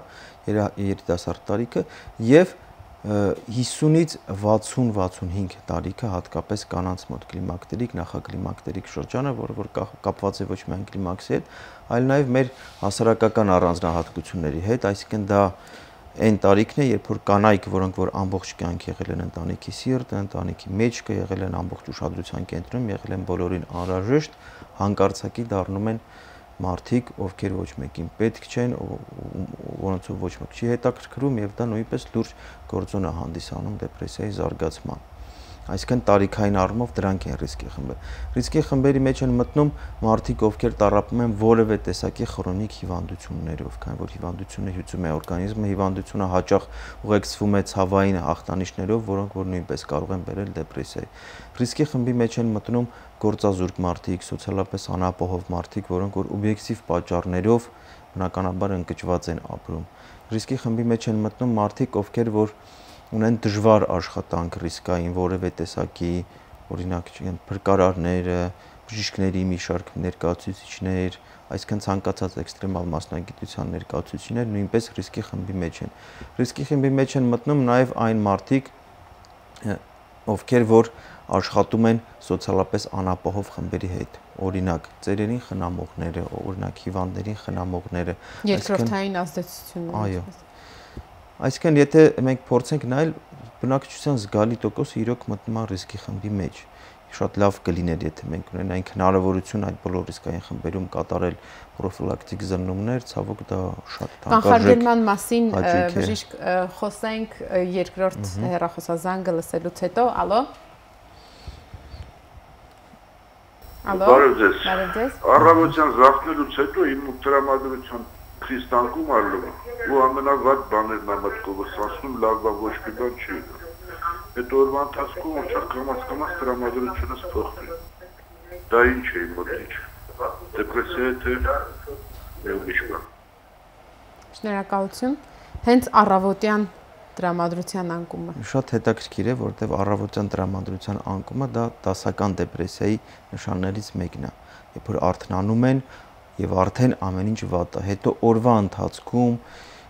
երիտասարդ տարիքը եւ հիսունից վաթսուն-վաթսունհինգ տարիքը, հատկապես կանանց մոտ կլիմակտերիկ, նախակլիմակտերիկ շրջանը, որը որ կապված է ոչ միայն կլիմաքսի հետ, այլ նաև մեր հասարակական առանձնահատկությունների հետ, այսինքն դա այն տարիքն է, երբ որ կանայք, որոնք որ ամբողջ կյանք եղել են ընտանիքի սիրտը, ընտանիքի մեջքը, եղել են ամբողջ ուշադրության կենտրոնում, եղել են բոլորին անհրաժեշտ, հանկարծակի դառնում են մարդիկ, ովքեր ոչ մեկին պետք չեն, որոնցով ոչ մեկ չի հետաքրքրում եւ դա նույնպես լուրջ գործոն է հանդիսանում դեպրեսիայի զարգացման։ Այսինքն տարիքային առումով դրանք են ռիսկի խմբեր։ Ռիսկի խմբերի մեջ են մտնում մարդիկ, ովքեր տառապում են որևէ տեսակի քրոնիկ հիվանդություններով, քանի որ հիվանդությունը հյուծում է օրգանիզմը, հիվանդությունը հաճախ ուղեկցվում է ցավային ախտանիշներով, որոնք որ նույնպես կարող են բերել դեպրեսիայի։ Ռիսկի խմբի մեջ են մտնում գործազուրկ մարդիկ, սոցիալապես անապահով մարդիկ, որոնք որ օբյեկտիվ պատճառներով բնականաբար ընկճված են ապրում։ Ռիսկի խմբի մեջ են մտնում մարդիկ, ովքեր որ ունեն դժվար աշխատանք ռիսկային որևէ տեսակի, օրինակ փրկարարները, բժիշկների մի շարք ներկայացուցիչներ, այսինքն ցանկացած էքստրեմալ մասնագիտության ներկայացուցիչներ նույնպես ռիսկի խմբի մեջ են։ Ռիսկի խմբի մեջ են մտնում նաև այն մարդիկ, ովքեր որ աշխատում են սոցիալապես անապահով խմբերի հետ, օրինակ ծերերին խնամողները, օրինակ հիվանդներին խնամողները, երկրորդային ազդեցությունը։ Այո։ Այսինքն եթե մենք փորձենք նայել, բնակչության զգալի տոկոսը իրոք մտնում է ռիսկի խմբի մեջ։ Շատ լավ կլիներ, եթե մենք ունենայինք հնարավորություն այդ բոլոր ռիսկային խմբերում կատարել պրոֆիլակտիկ զննումներ, ցավոք դա շատ թանկարժեք։ Կանխարգելման մասին բժիշկ խոսենք երկրորդ հեռախոսազանգը լսելուց հետո, ալո։ Ալո։ Բարև ձեզ։ Բարև ձեզ։ Առավոտյան զարթնելուց հետո իմ տրամադրության քրիստանկում արվում ու ամենավատ բաներն եմ մտքովս ասում, լավ բան ոչ մի բան չի։ Այդ օրվա ընթացքում ոնց կամաց-կամաց տրամադրությունս փոխվի։ Դա ինչ է իմ մոտիք։ Դեպրեսիա թե ուրիշ բան։ Շնորհակալություն։ Հենց առավոտյան տրամադրության անկումը։ Շատ հետաքրքիր է, որտեղ առավոտյան տրամադրության անկումը դա դասական դեպրեսիայի նշաններից մեկն է։ Երբ որ արթնանում են եւ արդեն ամեն ինչ վատ է, հետո օրվա ընթացքում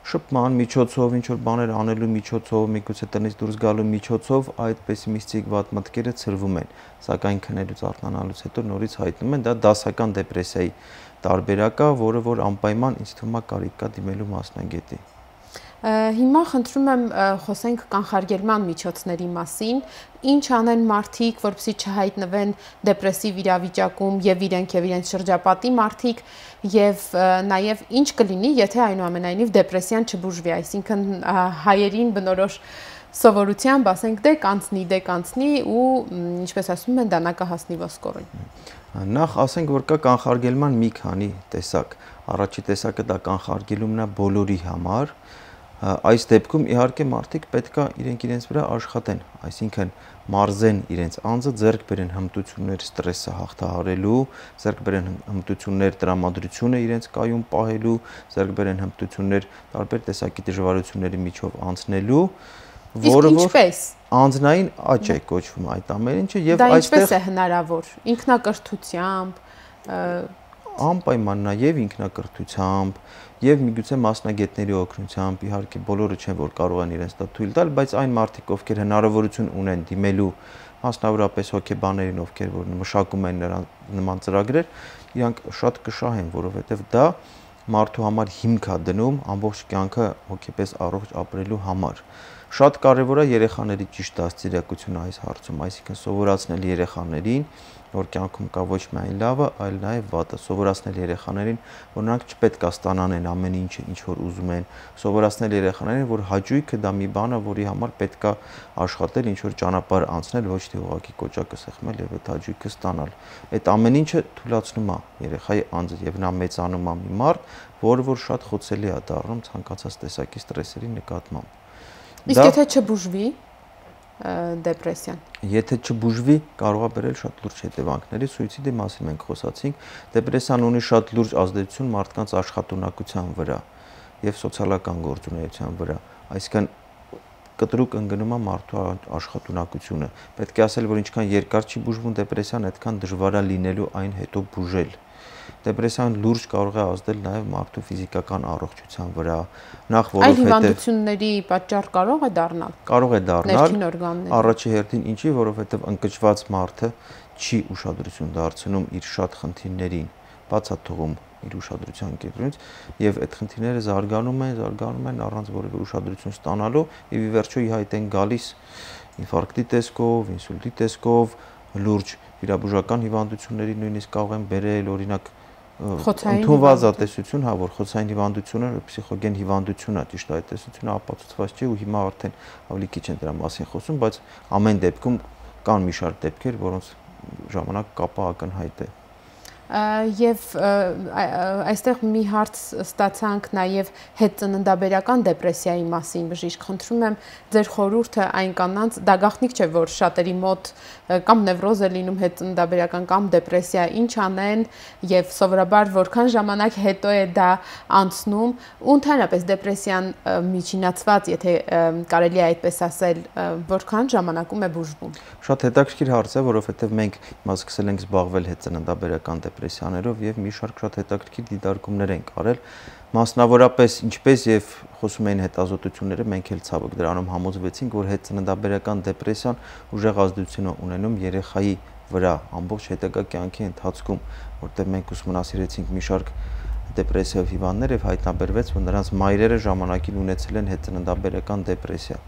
շփման միջոցով, ինչ որ բաներ անելու միջոցով, միգուցե տնից դուրս գալու միջոցով այդ պեսիմիստիկ վատ մտքերը ցրվում են, սակայն քնելուց արթնանալուց հետո նորից հայտնում են, դա դասական դեպրեսիայի տարբերակ է, որը որ անպայման ինձ թվում է կարիք կա դիմելու մասնագետի։ Հիմա խնդրում եմ խոսենք կանխարգելման միջոցների մասին, ինչ անեն մարդիկ, որպեսզի չհայտնվեն դեպրեսիվ իրավիճակում եւ իրենք եւ իրենց շրջապատի մարդիկ եւ նաեւ ինչ կլինի, եթե այնուամենայնիվ դեպրեսիան չբուժվի, այսինքն հայերին բնորոշ սովորությամբ ասենք դե կանցնի, դե կանցնի ու ինչպես ասում են դանակը հասնի ոսկորին։ Նախ ասենք, որ կա կանխարգելման մի քանի տեսակ։ Առաջի տեսակը դա կանխարգելումն է բոլորի համար։ Այս դեպքում իհարկե մարդիկ պետքա իրենք իրենց վրա աշխատեն, այսինքն մարզեն իրենց անձը, ձեռք բերեն հմտություններ ստրեսը հաղթահարելու, ձեռք բերեն հմտություններ տրամադրությունը իրենց կայուն պահելու, ձեռք բերեն հմտություններ տարբեր տեսակի դժվարությունների միջով անցնելու, որը որ անձնային աճ է կոչվում այդ ամեն ինչը եւ այստեղ դա ինչպես է հնարավոր, ինքնակրթությամբ, անպայման նաեւ ինքնակրթությամբ եւ միգուցե մասնագետների օգնությամբ, իհարկե բոլորը չեն որ կարող են իրենց դա թույլ տալ, բայց այն մարդիկ, ովքեր հնարավորություն ունեն դիմելու մասնավորապես հոգեբաներին, ովքեր որ մշակում են նրան նման ծրագրեր, իրանք շատ կշահեն, որովհետեւ դա մարդու համար հիմք է դնում ամբողջ կյանքը հոգեպես առողջ ապրելու համար։ Շատ կարևոր է երեխաների ճիշտ դաստիարակությունը այս հարցում, այսինքն սովորացնել երեխաներին, որ կյանքում կա ոչ միայն լավը, այլ նաև վատը, սովորացնել երեխաներին, որ նրանք չպետք է ստանան ամեն ինչը, ինչ որ ուզում են, սովորացնել երեխաներին, որ հաճույքը դա մի բան է, որի համար պետք է աշխատել, ինչ որ ճանապարհ անցնել, ոչ թե ուղղակի կոճակը սեղմել եւ այդ հաճույքը ստանալ։ Այդ ամեն ինչը թույլատրում է երեխայի անձը եւ նա մեծանում է մի մարդ, որը որ շատ խոցելի է դառնում ցանկացած տեսակի ստրեսերի նկատմամբ։ Իսկ եթե չբուժվի դեպրեսիան։ Եթե չբուժվի, կարող է բերել շատ լուրջ հետևանքների, սուիցիդի մասին մենք խոսացինք, դեպրեսիան ունի շատ լուրջ ազդեցություն մարդկանց աշխատունակության վրա եւ սոցիալական գործունեության վրա, այսինքն կտրուկ ընկնում է մարդու աշխատունակությունը։ Պետք է ասել, որ ինչքան երկար չի բուժվում դեպրեսիան, այդքան դժվար է լինելու այն հետո բուժել։ Դեպրեսիան լուրջ կարող է ազդել նաև մարդու ֆիզիկական առողջության վրա, նախ որովհետև այլ հիվանդությունների պատճառ կարող է դառնալ։ Կարող է դառնալ։ Ներքին օրգանների։ Առաջի հերթին ինչի, որովհետև ընկճված մարդը չի ուշադրություն դարձնում իր շատ խնդիրներին, բաց է թողում իր ուշադրության կենտրոնից եւ այդ խնդիրները զարգանում են, զարգանում են առանց որևէ ուշադրություն ստանալու եւ ի վերջո ի հայտ են գալիս ինֆարկտի տեսքով, ինսուլտի տեսքով, լուրջ վիրաբուժական հիվանդությունների նույնիսկ կարող են բերել, օրինակ ընդունված տեսություն, հա, որ խոցային հիվանդությունը փսիխոգեն հիվանդություն է, ճիշտ այդ տեսությունը ապացուցված չէ ու հիմա արդեն ավելի քիչ են դրա մասին խոսում, բայց ամեն դեպքում կան մի շարք դեպքեր, որոնց ժամանակ կապը ակնհայտ է։ Եվ այստեղ մի հարց ստացանք նաև հետծննդաբերական դեպրեսիայի մասին, բժիշկ, խնդրում եմ ձեր խորհուրդը այն կանանց, դա գաղտնիք չէ, որ շատերի մոտ կամ նևրոզ է լինում հետծննդաբերական կամ դեպրեսիա, ինչ անեն եւ սովորաբար որքան ժամանակ հետո է դա անցնում, ու ընդհանրապես դեպրեսիան միջինացված, եթե կարելի է այդպես ասել, որքան ժամանակում է բուժվում։ Շատ հետաքրքիր հարց է, որովհետեւ մենք հիմա սկսել ենք զբաղվել հետծննդաբերական դեպրեսիաներով եւ մի շարք շատ հետաքրքիր դիտարկումներ ենք արել, մասնավորապես ինչպես եւ խոսում էին հետազոտությունները, մենք էլ ցավոք դրանում համոզվեցինք, որ հետծննդաբերական դեպրեսիան ուժեղ ազդեցություն է ունենում երեխայի վրա ամբողջ հետագա կյանքի ընթացքում, որտեղ մենք ուսումնասիրեցինք մի շարք դեպրեսիվ հիվանդներ եւ հայտնաբերվեց, որ նրանց մայրերը ժամանակին ունեցել են հետծննդաբերական դեպրեսիա։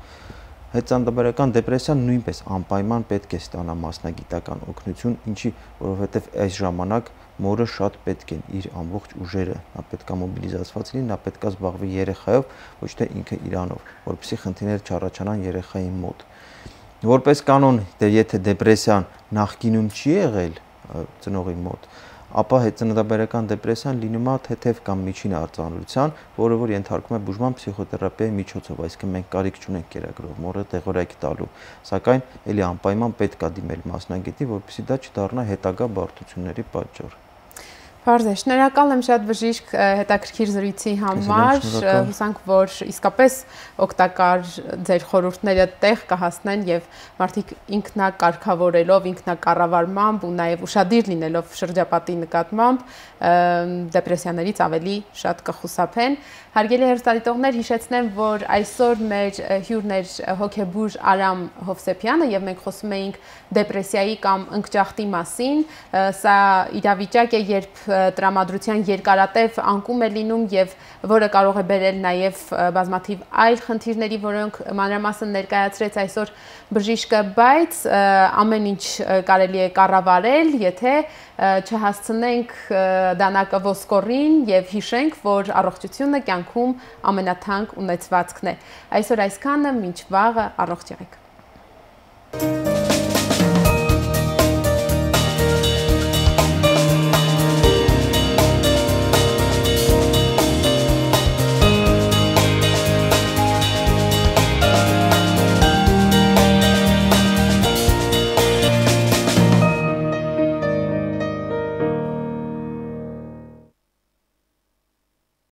Հետծննդաբերական դեպրեսիան նույնպես անպայման պետք է ստանա մասնագիտական օգնություն, ինչի, որովհետև այս ժամանակ մորը շատ պետք են իր ամբողջ ուժերը, նա պետք է մոբիլիզացված լինի, նա պետք է զբաղվի երեխայով, ոչ թե ինքը իրանով, որպեսզի խնդիրներ չառաջանան երեխայի մոտ։ Որպես կանոն, դե եթե դեպրեսիան նախկինում չի եղել ծնողի մոտ, ապա հետծննդաբերական դեպրեսիան լինում է թեթև կամ միջին արձանագրության, որը որ ենթարկվում է բուժման փսիխոթերապիայի միջոցով, այսինքն մենք կարիք չունենք կերակրող մորը տեղորայք տալու, սակայն ելի անպայման պետք է դիմել մասնագետի, որպեսզի դա չդառնա հետագա բարդությունների պատճառ։ Պարզ է, շնորհակալ եմ շատ բժիշկ հետաքրքիր զրույցի համար, հուսանք, որ իսկապես օգտակար ձեր խորհուրդները տեղ կհասնեն եւ մարդիկ ինքնակարգավորելով, ինքնակառավարմամբ ու նաեւ ուշադիր լինելով շրջապատի նկատմամբ դեպրեսիաներից ավելի շատ կխուսափեն։ Հարգելի հեռուստադիտողներ, հիշեցնեմ, որ այսօր մեր հյուրն էր հոգեբույժ Արամ Հովսեփյանը եւ մենք խոսում էինք դեպրեսիայի կամ ընկճախտի մասին։ Սա իրավիճակ է, երբ տրամադրության երկարատև անկում է լինում եւ որը կարող է բերել նաեւ բազմաթիվ այլ խնդիրների, որոնք մանրամասն ներկայացրեց այսօր բժիշկը, բայց ամեն ինչ կարելի է կառավարել, եթե չհասցնենք դանակը ոսկորին եւ հիշենք, որ առողջությունը կյանքում ամենաթանկ ունեցվածքն է։ Այսօր այսքանը, մինչ վաղը, առողջ եղեք։